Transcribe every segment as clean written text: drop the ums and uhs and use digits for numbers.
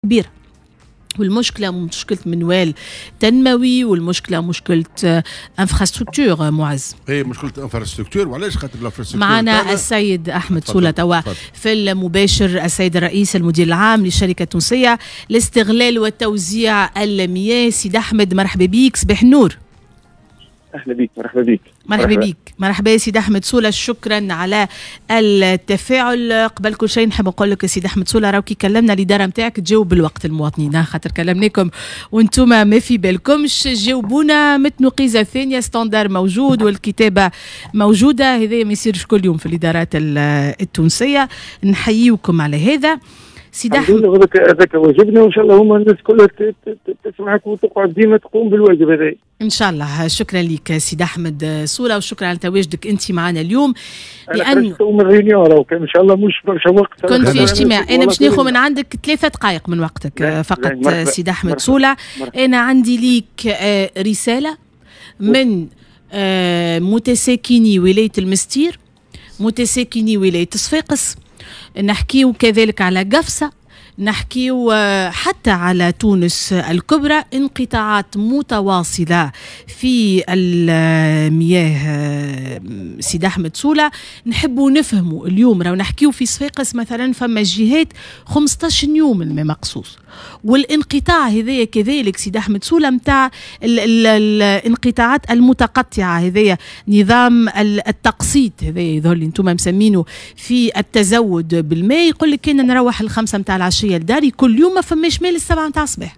كبيرة. والمشكلة مشكلة منوال تنموي، والمشكلة مشكلة infrastructure معز. اي مشكلة infrastructure، وعلاش؟ خاطر ال infrastructure. معنا السيد احمد سوله توا في المباشر، السيد الرئيس المدير العام للشركة التونسية لاستغلال وتوزيع المياه. سيد احمد مرحبا بيك، صباح النور. اهلا بك، مرحبا بك. مرحبا بك، مرحبا يا سيد احمد سوله، شكرا على التفاعل. قبل كل شيء نحب نقول لك سيد احمد سوله، راهو كي كلمنا الادارة نتاعك تجاوب بالوقت المواطنين، خاطر كلمناكم وانتم ما في بالكمش، جاوبونا متنقيزه ثانية، standard موجود والكتابة موجوده، هذا ما يصيرش كل يوم في الادارات التونسيه، نحييكم على هذا. سيد احمد هذاك واجبنا، وان شاء الله هما الناس كلها تسمعك وتقعد ديما تقوم بالواجب هذا ان شاء الله. شكرا لك سيد احمد سوله، وشكرا على تواجدك انت معنا اليوم. لانه من réunion كان ان شاء الله مش برشا وقت، كنت في اجتماع. انا باش ناخذ من عندك 3 دقائق من وقتك فقط سيد احمد سوله. انا عندي ليك رسالة من متساكني ولاية المستير، متساكني ولاية صفاقس، نحكيو كذلك على قفصه، نحكيو حتى على تونس الكبرى، انقطاعات متواصلة في المياه. سيد أحمد سولة، نحبوا نفهموا اليوم، راهو نحكيو في صفاقس مثلا فما جهات 15 يوم الماء مقصوص، والانقطاع هذايا كذلك سيد أحمد سولة متاع الانقطاعات المتقطعة، هذايا نظام التقسيط هذايا يظهر لي انتم مسمينه في التزود بالماء، يقول لك كان نروح 5 متاع العشية لداري كل يوم ما فماش ماء 7 متاع الصباح.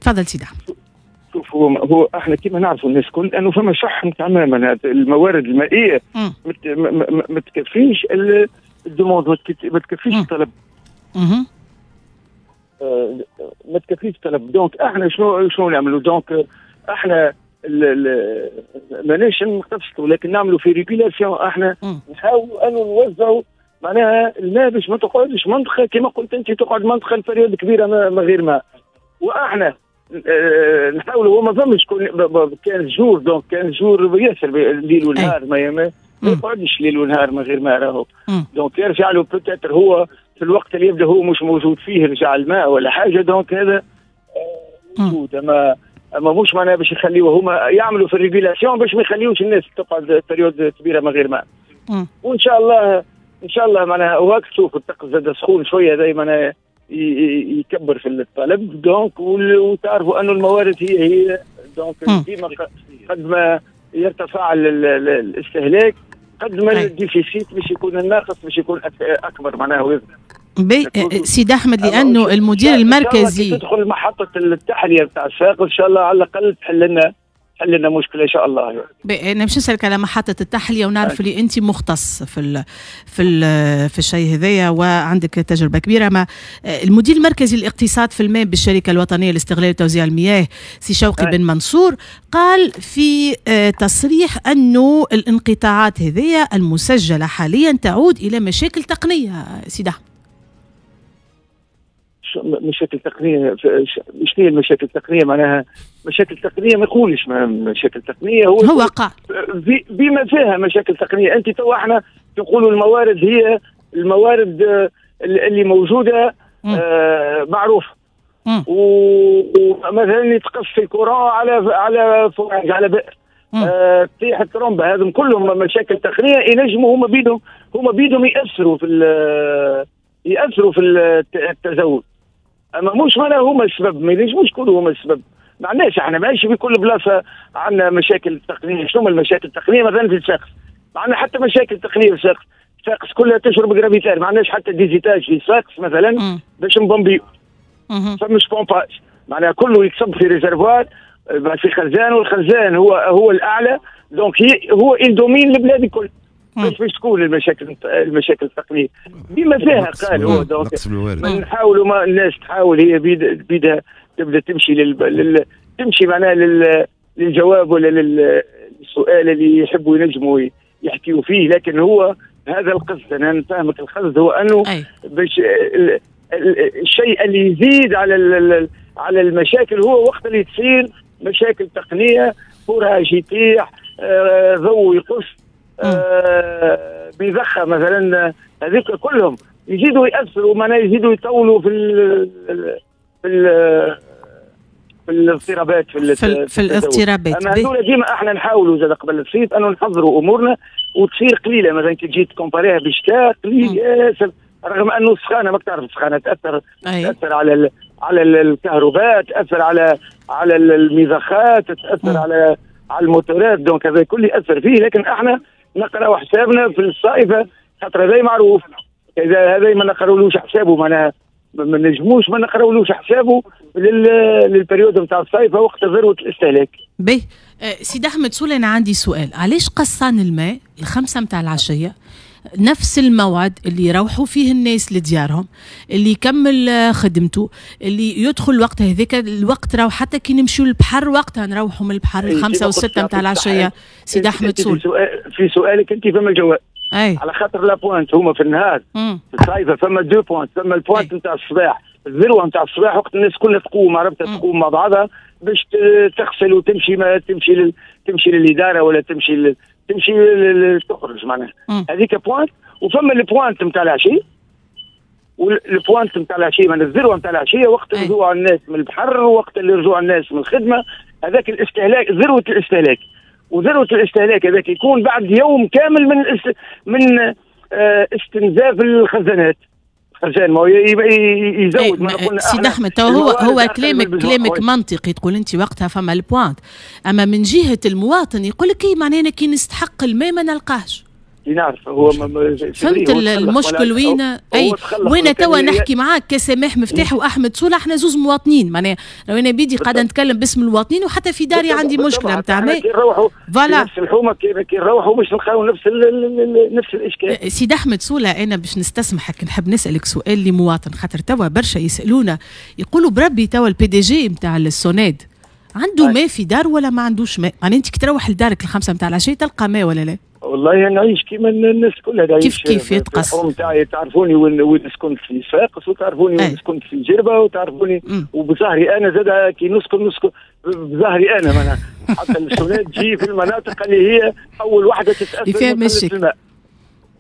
تفضل سيدي احمد. شوف، هو احنا كما نعرفوا الناس الكل انه فما شح تماما، الموارد المائية ما تكفيش ال demande، ما تكفيش الطلب. ما تكفيش الطلب، donc احنا شنو نعملوا؟ donc احنا ماناش نقتصدوا، لكن نعملوا في régulation، احنا نحاولوا انه نوزعوا معناها الماء باش ما تقعدش منطقة كما قلت انت، تقعد منطقة période كبيرة من غير ماء. واحنا نحاولوا، هو ما فماش 15 jours، donc 15 jours ياسر الليل والنهار، ما يقعدش ليل ونهار من غير ماء راهو. donc يرجع له peut-être هو في الوقت اللي يبدا هو مش موجود فيه يرجع الماء ولا حاجه، donc هذا موجود. اما مش معناها باش يخليوه، هما يعملوا في ال régulation باش ما يخليوش الناس تقعد période كبيرة من غير ماء. وان شاء الله، ان شاء الله معناها وقت تشوف الطقس زاد سخون شوية هذا معناها يكبر في الطلب، donc وتعرفوا انه الموارد هي donc ديما قد ما يرتفع الاستهلاك قد ما ال déficit باش يكون الناقص باش يكون اكبر معناها. سيد احمد، لانه المدير المركزي تدخل محطة التحلية بتاع الصفاقس ان شاء الله على الاقل تحل لنا مشكلة ان شاء الله. انا باش نسالك على محطة التحلية، ونعرف اللي انت مختص في الشيء هذايا وعندك تجربه كبيرة. ما المدير المركزي للاقتصاد في الماء بالشركة الوطنية لاستغلال وتوزيع المياه سي شوقي بن منصور قال في تصريح انه الانقطاعات هذيا المسجلة حاليا تعود الى مشاكل تقنية. سيدي احمد، مشاكل تقنية شنو هي المشاكل التقنية؟ معناها مشاكل تقنية ما يقولش مشاكل تقنية، هو قال بما فيها مشاكل تقنية. انت تو احنا تقولوا الموارد هي الموارد اللي موجودة معروفة، ومثلا يتقص ال courant على forage على بئر، تطيح الترمبه، هذم كلهم مشاكل تقنية ينجموا هما بيدهم ياثروا في التزود. اما مش معناها هما السبب، ما ينجموش يكونوا هما السبب. ما عندناش احنا، ماشي في كل بلاصة عندنا مشاكل تقنية. شنو المشاكل التقنية؟ مثلا في صفاقس ما عندنا حتى مشاكل تقنية في صفاقس، صفاقس كلها تشرب gravitaire، ما عندناش حتى des étages في صفاقس مثلا باش نبومبيو، فمش pompage، معناها كله يتصب في réservoir في خزان، والخزان هو الاعلى، donc هو il domine البلاد الكل. باش تكون المشاكل التقنية بما فيها قال هو، donc نحاولوا ما الناس تحاول هي بيدها تبدا تمشي تمشي معناها للجواب ولا للسؤال اللي يحبوا ينجموا يحكيوا فيه. لكن هو هذا القصد، انا نفهمك القصد هو انه باش الشيء اللي يزيد على المشاكل هو وقت اللي تصير مشاكل تقنيه، forage يطيح، ضوء يقص، بيضخ مثلا، هذيك كلهم يزيدوا ياثروا، معناها يزيدوا يطولوا في في الاضطرابات في الاضطرابات. اما هذول ديما احنا نحاولوا زاد قبل الصيف انه نحضروا امورنا وتصير قليله. مثلا كي تجي ت comparer ها بالشتاء قليل ياسر، رغم انه السخانه، ما تعرف السخانه تاثر على الكهرباء، تاثر على المضخات، تاثر على الموتورات، donc هذا كل ياثر فيه. لكن احنا نقراو حسابنا في الصائفه، خاطر هذا معروف، اذا هذا ما نقراولوش حسابه معناها ما نجموش ما نقراولوش حسابه لل période نتاع الصيف وقت ذروة الاستهلاك. باهي سيد احمد سولة، انا عندي سؤال، علاش قصان الماء 5 متاع العشية نفس الموعد اللي يروحوا فيه الناس لديارهم، اللي يكمل خدمته، اللي يدخل الوقت هذاك الوقت، راهو حتى كي نمشيو للبحر وقتها نروحوا من البحر 5 و6 متاع العشية. سيد احمد سول، في سؤالك انت فما الجواب. على خاطر la pointe هما في النهار في الصيف فما deux pointes، فما ال pointe نتاع الصباح، الذروة نتاع الصباح، وقت الناس كلها تقوم، عرفت، تقوم مع بعضها باش تغسل وتمشي، ما تمشي للادارة ولا تمشي تخرج معناها، هذيك pointe. وفما ال pointe نتاع العشية، وال pointe نتاع العشية من الذروة نتاع العشية وقت رجوع الناس من البحر، وقت اللي رجوع الناس من الخدمه، هذاك الاستهلاك، ذروة الاستهلاك. وذروة الاستهلاك هذاك يكون بعد يوم كامل من استنزاف الخزانات، الخزان ما هو يزود. ما قلنا سيد احمد، هو كلامك منطقي، تقول انت وقتها فما ال pointe، اما من جهة المواطن يقول لك ايه، معناها كي نستحق الماء ما نلقاهش. نعرف هو. فهمت المشكل وين؟ اي وين توا نحكي معاك كسماح مفتاح واحمد صولة، احنا زوز مواطنين، معناها لو انا بيدي قاعدة نتكلم باسم المواطنين، وحتى في داري عندي مشكلة نتاع ماء. كي نروحوا voilà نفس الحومه، كي نروحوا باش نلقاو نفس الاشكال. سيد احمد صولة، انا باش نستسمحك نحب نسالك سؤال لمواطن، خاطر توا برشا يسالونا يقولوا بربي توا ال PDG نتاع السوناد عنده ماء في دار ولا ما عندوش ماء؟ معناها انت كي تروح لدارك 5 نتاع العشية تلقى ماء ولا لا؟ والله نعيش كيما الناس كلها. كيف كيف يتقص. نتاعي تعرفوني وين سكنت في صفاقس، وتعرفوني وين سكنت في جربه، وتعرفوني وبظهري انا زاد كي نسكن نسكن بظهري انا، معناها حتى السوناد تجي في المناطق اللي هي اول واحدة تتاثر فيها مشاكل.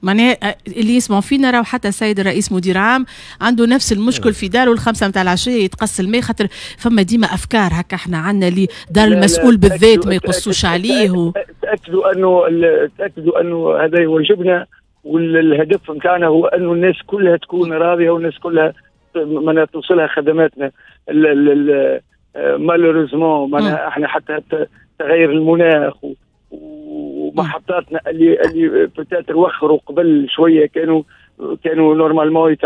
معناها اللي يسمعوا فينا راهو حتى السيد الرئيس مدير عام عنده نفس المشكل في داره، 5 نتاع العشية يتقص الماء، خاطر فما ديما افكار هكا احنا عندنا اللي دار المسؤول بالذات ما يقصوش عليه. تاكدوا انه هذا يواجبنا، والهدف نتاعنا هو انه الناس كلها تكون راضية والناس كلها من توصلها خدماتنا. malheureusement معناها احنا حتى تغير المناخ ومحطاتنا اللي peut-être وخروا قبل شويه، كانوا normalement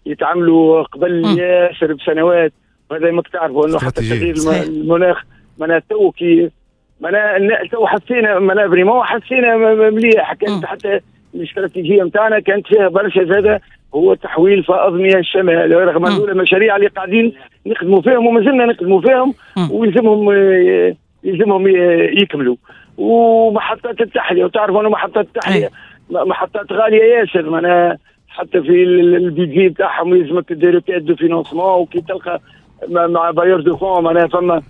يتعاملوا قبل ياسر بسنوات، وهذا ما تعرفوا انه حتى تغيير المناخ معناها تو كي معناها تو حسينا، معناها vraiment حسينا مليح. كانت حتى الاستراتيجية نتاعنا كانت فيها برشا زاده هو تحويل فائض مياه الشمال، رغم انه المشاريع اللي قاعدين نخدموا فيهم وما زلنا نخدموا فيهم ويلزمهم يلزمهم يكملوا، ومحطات التحلية، وتعرفوا انه محطات التحلية محطات غالية ياسر، معناها حتى في ال budget بتاعهم يلزمك des requêtes de financement، وكي تلقى مع bailleurs de fonds معناها فما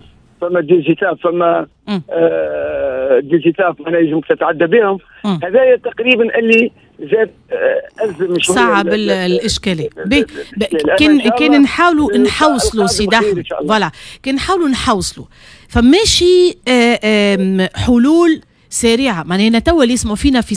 des étapes، فما des étapes معناها يلزمك تتعدى بهم. هذا تقريبا اللي زاد ازم شوية صعب الاشكاليه. كان نحاولوا نحوصلوا سيد احمد، voilà، كان نحاولوا نحوصلوا فماشي حلول سريعه، معناها توا اللي يسمعوا فينا في